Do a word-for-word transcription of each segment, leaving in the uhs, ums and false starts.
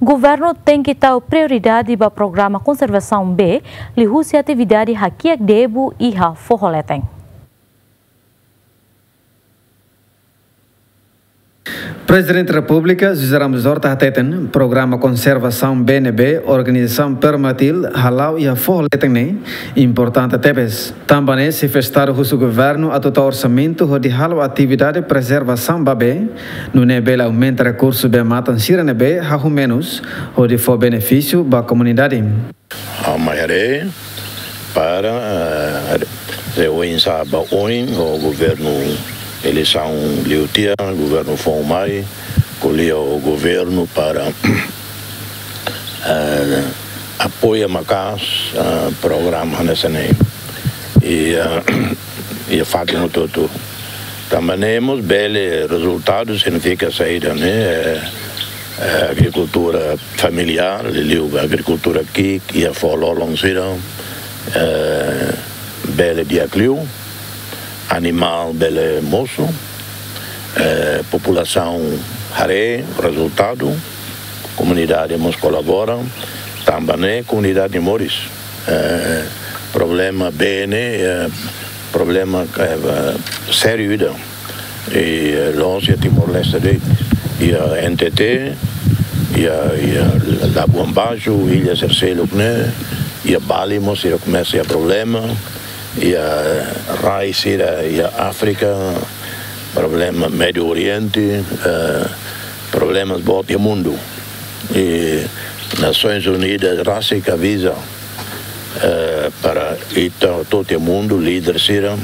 Governu tenke tau prioridade ba programa konservasaun bee, liuhusi atividade hakiak debu iha foho leten. Prezidente Repúblika José Ramos Horta hateten, programa konservasaun bee ne'ebé organizasaun Permatil hala'o iha foho leten ne'e importante tebes. Tanba ne'e, xefe Estadu husu governu atu tau orsamentu hodi halo atividade prezervasaun ba bee, nune'e bele aumenta rekursu bee-matan sira ne'ebé hahú menus, hodi fó benefísiu ba komunidade. Ha'u mai haree para, eh, se oinsá ba oin ho governu eleisaun liu tiha, governu foun mai, ko'alia ho governu para, eh, apoia maka'as, eh, programa hanesan ne'e. I, eh, i fatin hotu-hotu. Tanba ne'e mós bele rezultadu signifika saida, ne'e? Eh, eh, agrikultura familiár, liuliu agrikultura ki'ik, iha foho lolon sira, eh, bele di'ak liu, animál bele mosu, eh, populasaun haree rezultadu, komunidade mós kolabora, tanba ne'e komunidade moris. Eh, problema bee ne'e, eh, problema, eh, sériu ida. I, eh, la'ós iha Timor-Leste de'it, iha N T T, iha, iha Labuan Baixo, illa sira seluk ne'e, iha Bali mós sira komesa iha problema, iha rai sira iha Áfrika, problema Médiu Oriente, eh, problemas boot iha mundu. I Nasoins Unidas rasik aviza, eh, para ita hotu-hotu iha mundu, líder sira,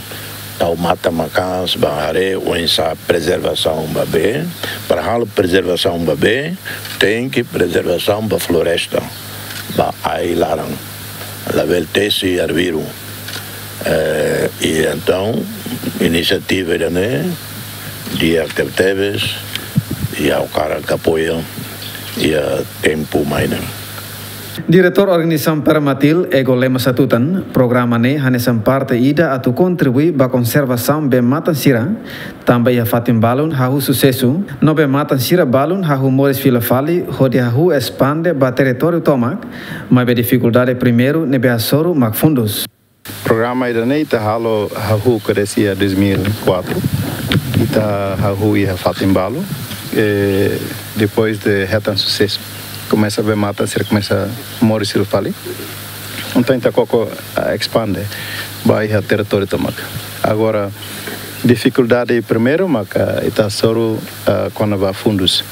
tau matan maka'as ba haree oinsá prezervasaun ba bee. Para halo prezervasaun ba bee, tenke prezervasaun ba floresta, ba ai-laran, labele tesi arbiru. Eh, i entaun, inisiativa ida-ne'e di'ak tebetebes, i ha'u hakarak apoia iha tempu mai ne'e. Diretór Organizasaun Permatil, Ego Lemos hatutan, programa ne'e hanesan parte ida atu kontribui ba konservasaun bee-matan sira, tanba iha fatin balun hahú susesu, no bee-matan sira balun hahú moris fila fali hodi hahú espande ba territóriu tomak, maibé difikuldade primeiru ne'ebé hasoru mak fundus. Programa ida-ne'e ita halo hahú desde iha dois mil e quatro. Ita hahú iha fatin balu. Eh, depois de hetan susesu, komesa bee-matan sira komesa moris fila fali. Entaun ita koko, ah, espande ba iha territóriu tomak. Agora, difikuldade primeiru maka ita hasoru, ah, kona-ba fundus.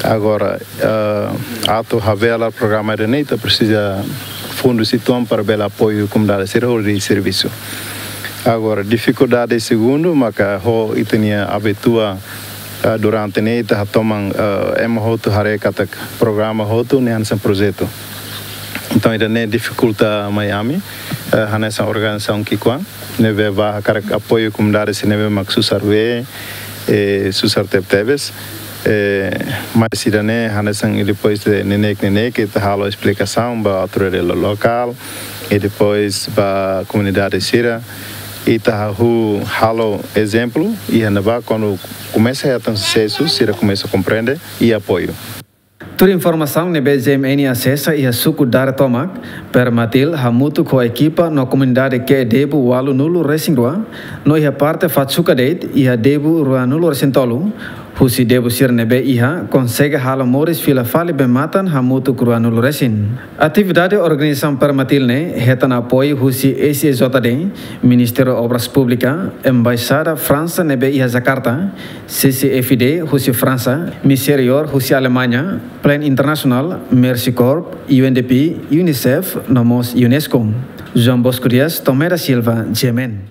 Agora, ah, atu habelar programa ida-ne'e ita presiza fundus uitoan para bele apoiu komunidade sira hodi servisu. Agora, difikuldade segundu maka ho ita-nia abitua, ah, durante ne'e ita hatoman, ah, ema hotu haree katak programa hotu ne'e hanesan projetu. Entaun, ida-ne'e difikulta mai ami, eh, hanesan organizasaun ki'ikoan ne'ebé bá hakarak apoiu komunidade sira ne'ebé mak susar bee, eh, susar tebetebes. Eh, mas ida-ne'e hanesan, i depois de neineik-neineik ita halo esplikasaun ba autoridade lo-, lokál, i depois ba komunidade sira, ita hahú halo ezemplu, i ne'ebá kuandu komesa hetan susesu, sira komesa komprende i apoiu. Tuir informasaun ne'ebé G M N asesa iha suku Dare tomak, Permatil hamutuk ho ekipa no komunidade ke'e debu ualunulu-resin-rua, no iha parte Fatsuka de'it iha debu ruanulu-resin-tolu, husi debu sira ne'ebé iha, konsege halo moris fila fali bee-matan hamutuk ruanulu-resin. Atividade organizasaun Permatil ne'e hetan apoiu husi S E J D, Ministériu Obras Públikas, Embaixada Fransa ne'ebé iha Jakarta, C C F D husi Fransa, Miserior husi Alemaña, Plan International, Mercy Corps, U N D P, UNICEF, no mós UNESCO. João Bosco Dias, Tomé da Silva, G M N.